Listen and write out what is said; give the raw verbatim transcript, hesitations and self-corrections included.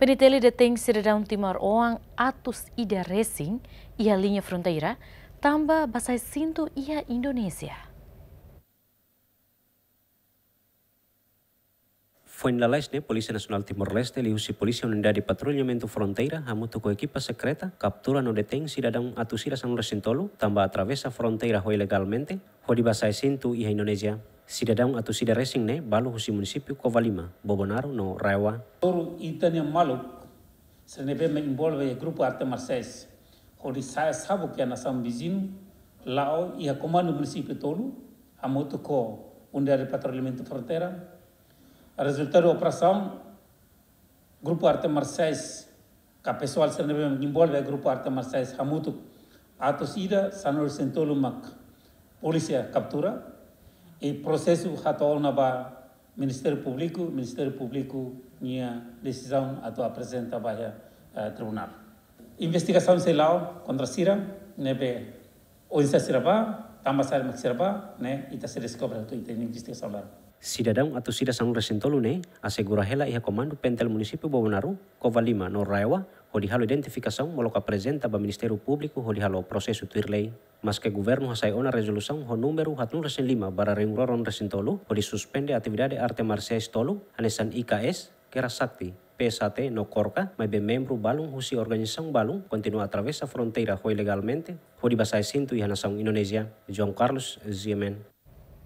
PNTL detein sidadaun timoroan atus ida resin iha liña fronteira, tanba basá esintu iha Indonézia. Foin lalais ne'e, Polísia Nasionál Timor-Leste liuhusi Polísia Unidade Patrullamentu Fronteira hamutuk ho ekipa sekreta kaptura no detein sidadaun atus ida sanulu resin tolu tanba atravesa fronteira ho ilegalmente, hodi basá esintu iha Indonézia. Sidadaun atus ida resin ne'e balu husi munisípiu Covalima, Bobonaro no Raeoa. Toru ita-nia maluk sira ne'ebé mak envolve grupu arte marsiais hodi sa'e sabuk iha nasaun viziñu la'o iha komandu munisípiu tolu, hamutuk ho Unidade Patrullamentu Fronteira. Rezultadu operasaun, grupu arte marsiais ka pesoál sira ne'ebé envolve grupu arte marsiais hamutuk atus ida sanulu resin tolu mak polísia kaptura, i prosesu hato'o ona ba Ministériu Públiku, Ministériu Públiku nia desizaun atu aprezenta ba iha, eh, tribunál. Investigasaun sei la'o kontra sira ne'ebé oinsá sira bá, tanba saida mak sira bá, ne'e ita sei deskobre hotu iha investigasaun laran. Sidadaun atus ida sanulu resin tolu ne'e asegura hela iha komandu PNTL munisípiu Bobonaro, Covalima no Raeoa, hodi halo identifikasaun molok aprezenta ba Ministériu Públiku hodi halo prosesu tuir lei. Maske governu hasai ona rezolusaun ho númeru haatnulu resin lima barra rihun rua ruanulu resin tolu hodi suspende atividade arte marsiais tolu, hanesan I K S, Kera Sakti, P S H T no KORKA, maibé membru balun husi organizasaun balun kontinua atravesa fronteira ho ilegalmente, hodi basá esintu iha nasaun Indonézia. João Carlos, G M N.